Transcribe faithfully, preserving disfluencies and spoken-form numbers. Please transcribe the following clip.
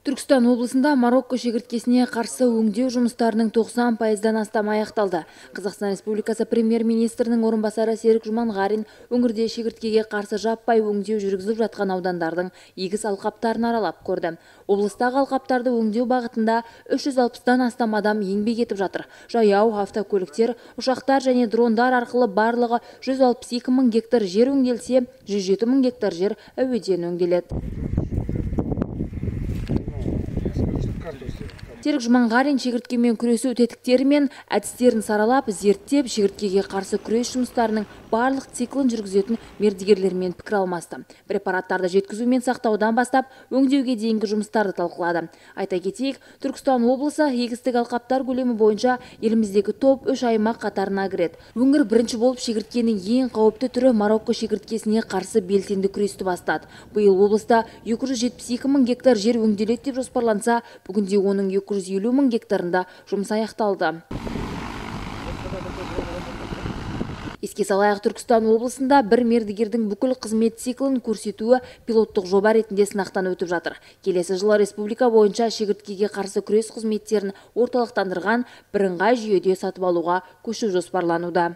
Түркістан облысында Марокко шегірткесіне қарсы өңдеу жұмыстарының тоқсан пайыздан астам аяқталды. Қазақстан Республикасы премьер-министрінің орынбасары Серік Жұманғарин өңірде шегірткеге қарсы жаппай өңдеу жүргізіліп жатқан аудандардың егіс алқаптарын аралап көрді. Облыстағы алқаптарды өңдеу бағытында үш жүз алпыстан астам адам еңбек етіп жатыр. Жаяу, автокөліктер, ұшақтар және дрондар арқылы барлығы жүз алпыс екі мың гектар жер өңделсе, жүз жеті мың гектар жер әуеден өңделеді. Серік Жұманғарин шегірткемен күресу тетіктері мен әдістерін саралап, зерттеп, шегірткеге қарсы күрес жұмыстарының барлық циклын жүргізетін мердігерлермен пікір алмасты. Препараттарды жеткізу мен сақтаудан бастап, өңдеуге дейінгі жұмыстарды талқылады. Айта кетейік, Түркістан облысы егістік алқаптар көлемі бойынша еліміздегі топ үш аймақ қатарына кіреді. Өңір бірінші болып шегірткенің ең қауіпті түрі Марокко шегірткесіне қарсы белсенді күресті бастады. Биыл облыста екі жүз жетпіс екі мың гектар жер өңделеді деп жоспарланса, бүгінде оның екі жүз елу мың гектарында жұмыс аяқталды. Еске салайық, Түркістан облысында бір мердігердің бүкіл қызмет циклін көрсетуі пилоттық жоба ретінде сынақтан өтіп жатыр. Келесі жылы республика бойынша шегірткеге қарсы күрес қызметтерін орталықтандырған бірыңғай жүйеде сатып алуға көшу жоспарлануда.